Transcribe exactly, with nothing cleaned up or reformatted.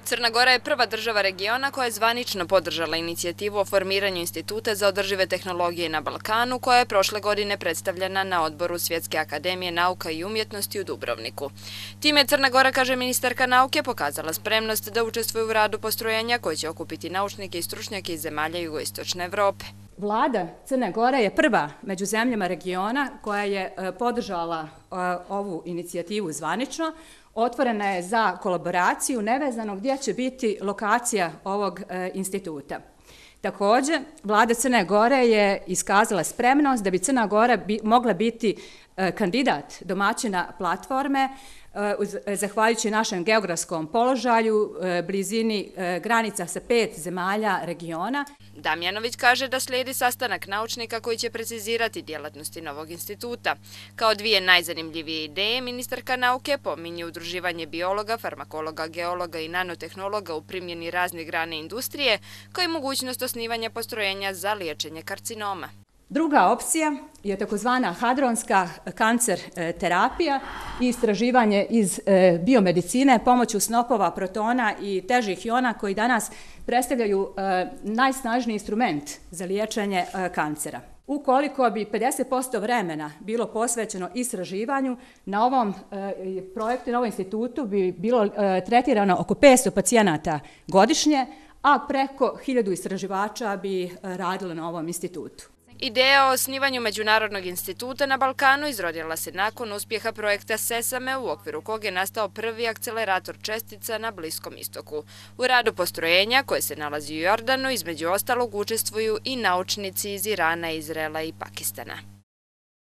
Crna Gora je prva država regiona koja je zvanično podržala inicijativu o formiranju Instituta za održive tehnologije na Balkanu, koja je prošle godine predstavljena na odboru Svjetske akademije nauka i umjetnosti u Dubrovniku. Time je Crna Gora, kaže ministarka nauke, pokazala spremnost da učestvuje u radu postrojenja koje će okupiti naučnike i stručnjake iz zemalja jugoistočne Evrope. Vlada Crne Gore je prva među zemljama regiona koja je podržala ovu inicijativu zvanično. Otvorena je za kolaboraciju nevezano gdje će biti lokacija ovog instituta. Također, Vlada Crne Gore je iskazala spremnost da bi Crna Gora mogla biti kandidat domaćina platforme zahvaljujući našem geografskom položaju, blizini granica sa pet zemalja regiona. Damjanović kaže da slijedi sastanak naučnika koji će precizirati djelatnosti novog instituta. Kao dvije najzanimljivije ideje, ministarka nauke pominje udruživanje biologa, farmakologa, geologa i nanotehnologa u primjeni raznih grane industrije, kao i mogućnost osnivanja postrojenja za liječenje karcinoma. Druga opcija je takozvana hadronska kancer terapija i istraživanje iz biomedicine pomoću snopova protona i težih iona koji danas predstavljaju najsnažniji instrument za liječenje kancera. Ukoliko bi pedeset posto vremena bilo posvećeno istraživanju, na ovom projektu, na ovom institutu bi bilo tretirano oko petsto pacijenata godišnje, a preko hiljadu istraživača bi radilo na ovom institutu. Ideja o osnivanju Međunarodnog instituta na Balkanu izrodila se nakon uspjeha projekta SESAME, u okviru kog je nastao prvi akcelerator čestica na Bliskom istoku. U radu postrojenja, koje se nalazi u Jordanu, između ostalog učestvuju i naučnici iz Irana, Izraela i Pakistana.